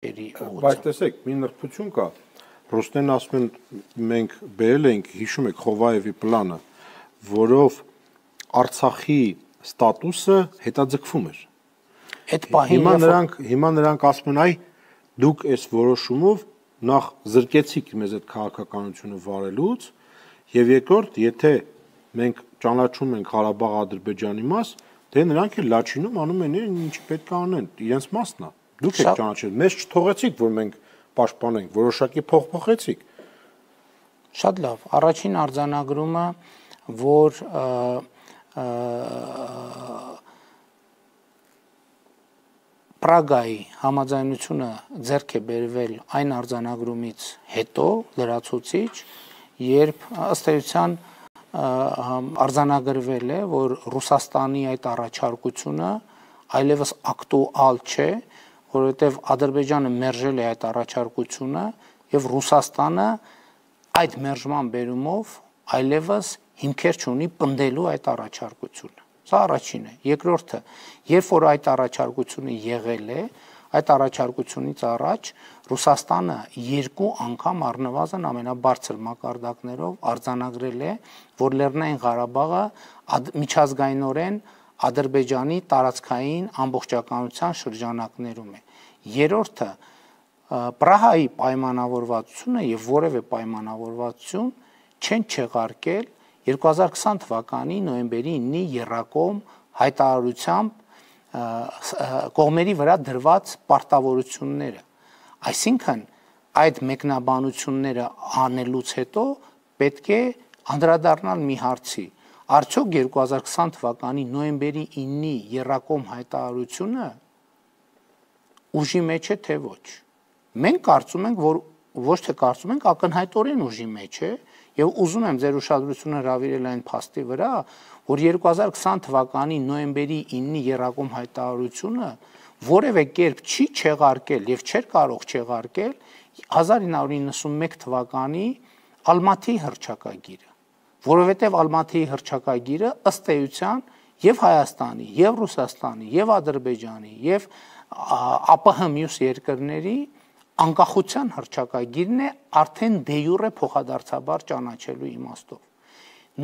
Բայց տեսեք, մի նրբություն կա, Ռուստեն ասում են մենք բերել ենք, հիշում եք Խովայևի պլանը, որով Արցախի ստատուսը հետաձգվում էր։ Հիմա նրանք ասում են, այ դուք այս որոշումով նախ զրկեցիք մեզ այդ քաղաքականությունը վարելուց, եւ երկրորդ, եթե մենք ճանաչում ենք Ղարաբաղ-Ադրբեջանի մաս, դե նրանք էլ Լաչինում անում են ինչ պետք է անեն, իրենց մասն է։ Դուք եք ճանաչել, մեզ չթողեցիք, որ մենք պաշտպանենք, որոշակի փոխեցիք։ Շատ լավ, առաջին արձանագրումը, որ Պրագայի համաձայնությունը ձեռք է բերվել այն արձանագրումից հետո լրացուցիչ, երբ ըստ էության արձանագրվել է, որ Ռուսաստանի այդ առաջարկությունը այլևս ակտուալ չէ, որովհետև Ադրբեջանը մերժել է այդ առաջարկությունը եւ Ռուսաստանը այդ մերժման բերումով այլևս հիմքեր չունի պնդելու այդ առաջարկությունը։ Սա առաջինն է։ Երկրորդը, երբ որ այդ առաջարկությունը եղել է, այդ առաջարկությունից առաջ Ռուսաստանը 2 անգամ առնվազն ամենաբարձր մակարդակներով արձանագրել է, որ Լեռնային Ղարաբաղը միջազգայինորեն Ադրբեջանի տարածքային ամբողջականության շրջանակներում է։ Երրորդը, Պրահայի պայմանավորվածությունը եւ որևէ պայմանավորվածություն չեն չեղարկել 2020 թվականի նոյեմբերի 9-ի եռակողմ հայտարարությամբ կողմերի վրա դրված պարտավորությունները։ Այսինքն այդ մեկնաբանությունները անելուց հետո պետք է անդրադառնալ մի հարցի. Արդյոք 2020 թվականի նոյեմբերի 9-ի եռակողմ հայտարարությունը ուժի մեջ է թե ոչ։ Մենք կարծում ենք, որ ոչ թե կարծում ենք, ակնհայտորեն ուժի մեջ է, եւ ուզում եմ ձեր ուշադրությունը հրավիրել այն փաստի վրա, որ 2020 թվականի նոյեմբերի 9-ի եռակողմ հայտարարությունը որևէ կերպ չի չեղարկել եւ չէր կարող չեղարկել 1991 թվականի Ալմաթիի հռչակագիրը, որովհետեւ Ալմաթիի հռչակագիրը ըստ էության եւ Հայաստանի, եւ Ռուսաստանի, եւ Ադրբեջանի, եւ ԱՊՀ մյուս երկրների անկախության հռչակագիրն է արդեն դե յուրե փոխադարձաբար ճանաչելու իմաստով։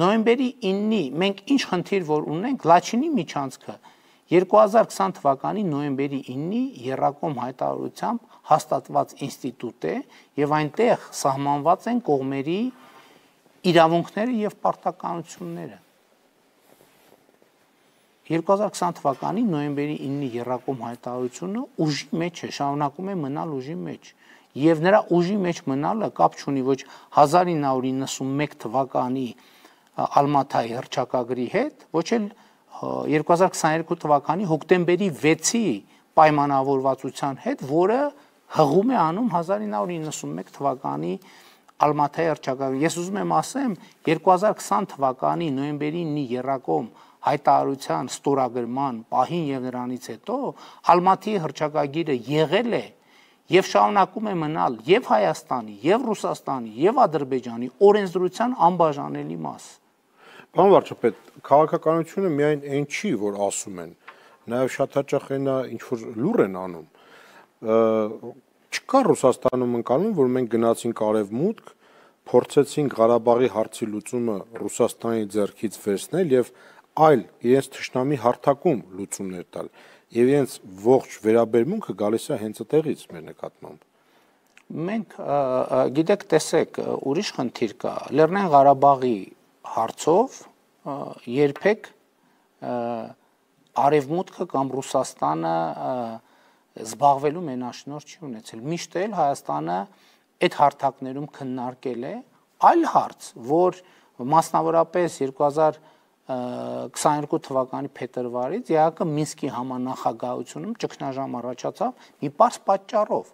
Նոյեմբերի 9-ի մենք ինչ խնդիր որ ունենք, Լաչինի միջանցքը 2020 թվականի նոյեմբերի 9-ի եռակողմ հայտարարությամբ հաստատված ինստիտուտ է եւ այնտեղ սահմանված են կողմերի իրավունքները եւ պարտականությունները։ 2020 թվականի նոյեմբերի 9-ի եռակողմ հայտարարությունը ուժի մեջ է, շարունակում է մնալ ուժի մեջ։ Եվ նրա ուժի մեջ մնալը կապ չունի ոչ 1991 թվականի Ալմաթայի հռչակագրի հետ, ոչ էլ 2022 թվականի հոկտեմբերի 6-ի պայմանավորվածության հետ, որը հղում է անում 1991 թվականի Ալմաթայի հռչակագրը։ Ես ուզում եմ ասեմ, 2020 թվականի նոյեմբերի 9-ի եռակողմ հայտարարության ստորագրման պահին եւ նրանից հետո Ալմաթիի հռչակագիրը եղել է եւ շարունակում է մնալ եւ Հայաստանի, եւ Ռուսաստանի, եւ Ադրբեջանի օրենսդրության անբաժանելի մաս։ Պարոն վարչապետ, քաղաքականությունը միայն այն չի, որ ասում են, նաեւ շատ հաճախ այնա ինչ որ լուր են անում։ Չկա Ռուսաստանում ընկալում, որ մենք գնացինք արևմուտք, փորձեցինք Ղարաբաղի հարցի լուծումը Ռուսաստանի ձեռքից վերցնել եւ այլ իրենց թշնամի հարթակում լուծումներ տալ եւ իրենց ողջ վերաբերմունքը գալիս է հենց այդտեղից մեր նկատմամբ։ Մենք գիտեք, տեսեք, ուրիշ խնդիր կա։ Լեռնային Ղարաբաղի հարցով երբեք արևմուտքը կամ Ռուսաստանը զբաղվելու մենաշնորհ չի ունեցել։ Միշտ էլ Հայաստանը այդ հարթակներում քննարկել է այլ հարց, որ մասնավորապես 2022 թվականի փետրվարից ԵԱԿ Մինսկի համանախագահությունում ճգնաժամ առաջացավ մի պարզ պատճառով,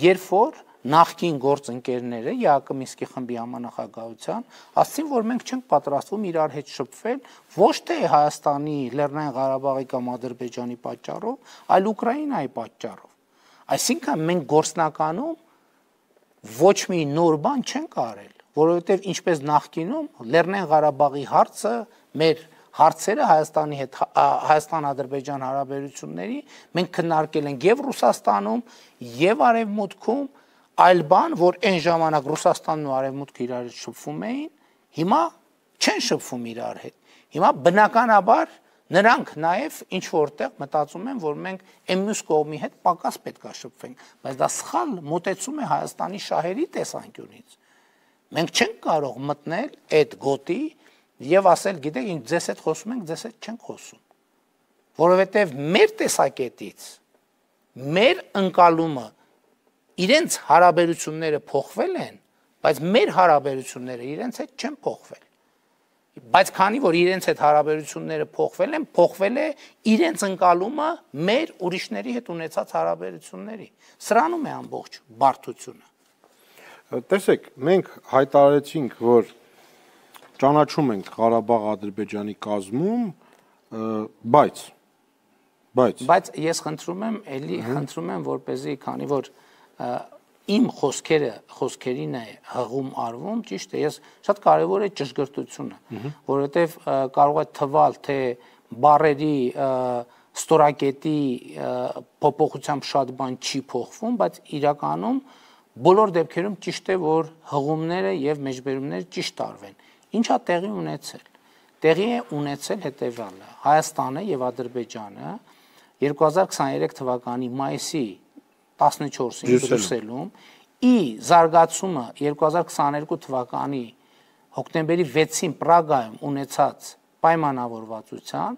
երբ որ նախկին գործընկերները ԵԱԿ Մինսկի խմբի համանախագահության ասացին, որ մենք չենք պատրաստվում իրար հետ շփվել ոչ թե Հայաստանի, Լեռնային Ղարաբաղի կամ Ադրբեջանի պատճառով, այլ Ուկրաինայի պատճառով։ Այսինքն մենք գործնականում ոչ մի նոր բան չենք արել, որովհետև ինչպես նախկինում Լեռնային Ղարաբաղի հարցը մեր հարցերը Հայաստանի հետ Հայաստան-Ադրբեջան հարաբերությունների մենք քննարկել ենք եւ Ռուսաստանում եւ Արևմուտքում, այլ բան, որ այն ժամանակ Ռուսաստանն ու Արևմուտքը իրար հետ շփվում էին, հիմա չեն շփվում իրար հետ։ Հիմա բնականաբար նրանք նաև ինչ որտեղ մտածում են, որ մենք այն մյուս կողմի հետ պակաս պետք է շփվենք, բայց դա սխալ մոտեցում է Հայաստանի շահերի տեսանկյունից։ Մենք չենք կարող մտնել այդ գոտի եւ ասել, գիտեք, ինչ ձեզ հետ խոսում ենք, ձեզ հետ չենք խոսում։ Որովհետեւ մեր տեսակետից մեր ընկալումը իրենց հարաբերությունները փոխվել են, բայց մեր հարաբերությունները իրենց հետ չեն փոխվել։ Բայց քանի որ իրենց հետ հարաբերությունները փոխվել են, փոխվել է իրենց ընկալումը մեր ուրիշների հետ ունեցած հարաբերությունների։ Սրանում է ամբողջ բարդությունը։ Տեսեք, մենք հայտարարեցինք, որ ճանաչում ենք Ղարաբաղ-Ադրբեջանի կազմում, բայց ես խնդրում եմ, որպեսզի, քանի որ իմ խոսքերին է հղում արվում, ճիշտ է, ես շատ կարևոր է ճշգրտությունը, որովհետև կարող է թվալ, թե բառերի ստորակետի փոփոխությամբ շատ բան չի փոխվում, բայց իրականում բոլոր դեպքերում ճիշտ է, որ հղումները եւ մեջբերումները ճիշտ արվեն։ Ինչա տեղի ունեցել։ Տեղի է ունեցել հետեւյալը. Հայաստանը եւ Ադրբեջանը 2023 թվականի մայիսի 14-ին Բրյուսելում ի զարգացումը 2022 թվականի հոկտեմբերի 6-ին Պրագայում ունեցած պայմանավորվածության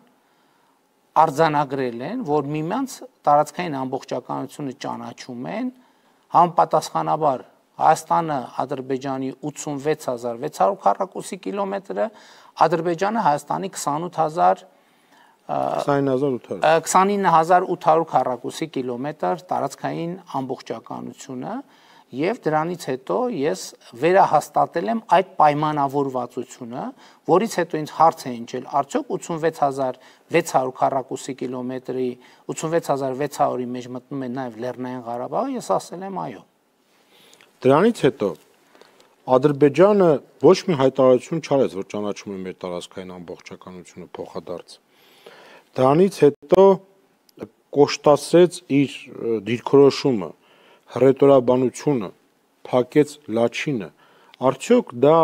արձանագրել են, որ միմյանց տարածքային ամբողջականությունը ճանաչում են, համապատասխանաբար Հայաստանը Ադրբեջանի 86600 քառակուսի կիլոմետրը, Ադրբեջանը Հայաստանի 29800 քառակուսի կիլոմետր տարածքային ամբողջականությունը եւ դրանից հետո ես վերահաստատել եմ այդ պայմանավորվածությունը, որից հետո ինձ հարց է ընջել, արդյոք 86600 քառակուսի կիլոմետրի 86600-ի մեջ մտնում է նաեւ Լեռնային Ղարաբաղը, ես ասել եմ այո։ Դրանից հետո Ադրբեջանը ոչ մի հայտարարություն չարեց, որ ճանաչում է մեր տարածքային ամբողջականությունը փոխադարձ։ Դրանից հետո կոշտացրեց իր դիրքորոշումը, հռետորաբանությունը, փակեց Լաչինը։ Արդյոք դա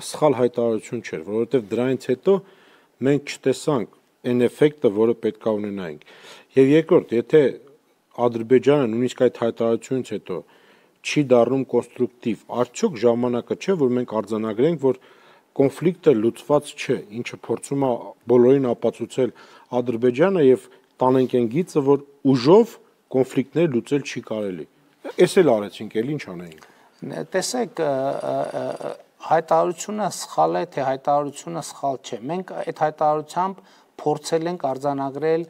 սխալ հայտարարություն չէր, որովհետև դրանից հետո մենք չտեսանք այն էֆեկտը, որը պետք է ունենայինք։ Եվ երկրորդ, եթե Ադրբեջանը նույնիսկ այդ հայտարարությունից հետո չի դառնում կոնստրուկտիվ, արդյոք ժամանակը չէ, որ մենք արձանագրենք, որ կոնֆլիկտը լուծված չէ, ինչը փորձում է բոլորին ապացուցել Ադրբեջանը եւ տանենք այն գիծը, որ ուժով կոնֆլիկտներ լուծել չի կարելի։ Էս էլ արեցինք, էլ ինչ անեինք։ Տեսեք, հայտարարությունը սխալ է, թե հայտարարությունը սխալ չէ։ Մենք այդ հայտարարությամբ փորձել ենք արձանագրել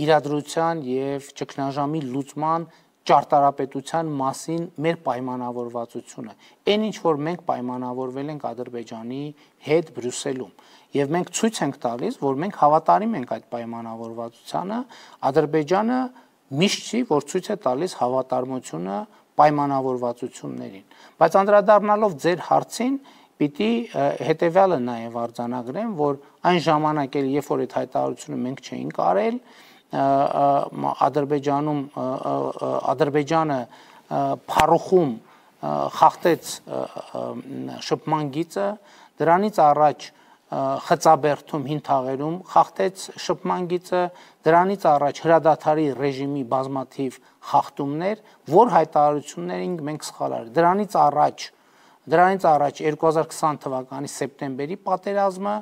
իրադրության եւ ճգնաժամի լուծման ճարտարապետության մասին մեր պայմանավորվածությունը։ Այն ինչ որ մենք պայմանավորվել ենք Ադրբեջանի հետ Բրյուսելում, եւ մենք ցույց ենք տալիս, որ մենք հավատարիմ ենք այդ պայմանավորվածությանը, Ադրբեջանը միշտ չի, որ ցույց է տալիս հավատարմությունը պայմանավորվածություններին։ Բայց անդրադառնալով ձեր հարցին, պիտի հետեւյալը նաեւ արձանագրեմ, որ այն ժամանակ էլ երբ որ այդ հայտարարությունը մենք չէինք արել, Ադրբեջանը Փարուխում խախտեց շփման գիծը, դրանից առաջ Խծաբերդում հին թաղերում խախտեց շփման գիծը, դրանից առաջ հրադադարի ռեժիմի բազմաթիվ խախտումներ, որ հայտարարություններին մենք սխալ արել։ Դրանից առաջ 2020 թվականի սեպտեմբերի պատերազմը,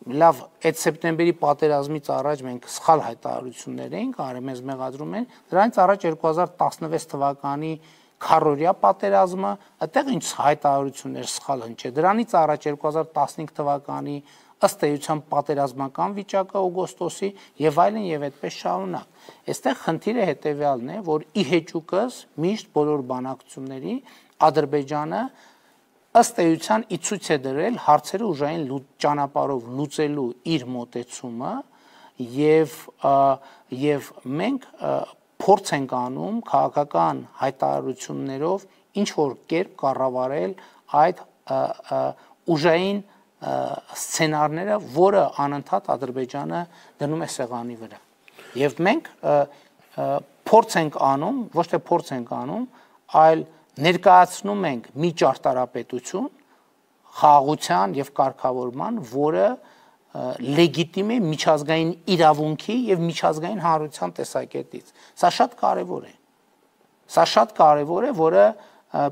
լավ, այդ սեպտեմբերի պատերազմից առաջ մենք սխալ հայտարարություններ էինք արել, մեզ մեղադրում են, դրանից առաջ 2016 թվականի քառօրյա պատերազմը, այդտեղ ինչ հայտարարություններ սխալ հնչել, դրանից առաջ 2015 թվականի ըստ էության պատերազմական վիճակը օգոստոսի եւ այլն եւ այդպես շարունակ։ Այստեղ խնդիրը հետեւյալն է, որ ի հեճուկս միշտ բոլոր բանակցությունների Ադրբեջանը ըստ էության ի ցույց է դրել հարցերը ուժային ճանապարհով լուծելու իր մոտեցումը եւ մենք փորձ ենք անում քաղաքական հայտարարություններով ինչ որ կերպ կառավարել այդ ուժային սցենարները, որը անընդհատ Ադրբեջանը դնում է սեղանի վրա։ Եվ մենք փորձ ենք անում, ոչ թե փորձ ենք անում, այլ ներկայացնում ենք մի ճարտարապետություն խաղաղության եւ կարգավորման, որը լեգիտիմ է միջազգային իրավունքի եւ միջազգային հանրության տեսակետից։ Սա շատ կարեւոր է։ Սա շատ կարեւոր է, որը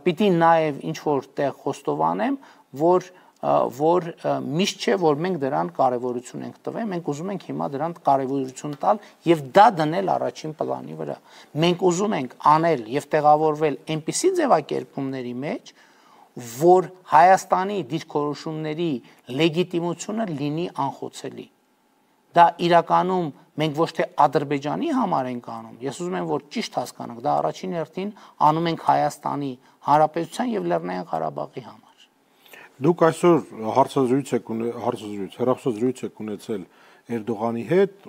պիտի նաեւ ինչ որ տեղ խոստովանեմ, որ միշտ չէ, որ մենք դրան կարևորություն ենք տվել, մենք ուզում ենք հիմա դրան կարևորություն տալ եւ դա դնել առաջին պլանի վրա։ Մենք ուզում ենք անել եւ տեղավորվել այնպիսի ձևակերպումների մեջ, որ Հայաստանի դիրքորոշումների լեգիտիմությունը լինի անխոցելի։ Դա իրականում մենք ոչ թե Ադրբեջանի համար ենք անում, ես ուզում եմ, որ ճիշտ հասկանանք, դա առաջին հերթին անում ենք Հայաստանի Հանրապետության եւ Լեռնային Ղարաբաղի համար։ Դուք այսօր հեռախոսազրույց եք ունեցել Էրդողանի հետ,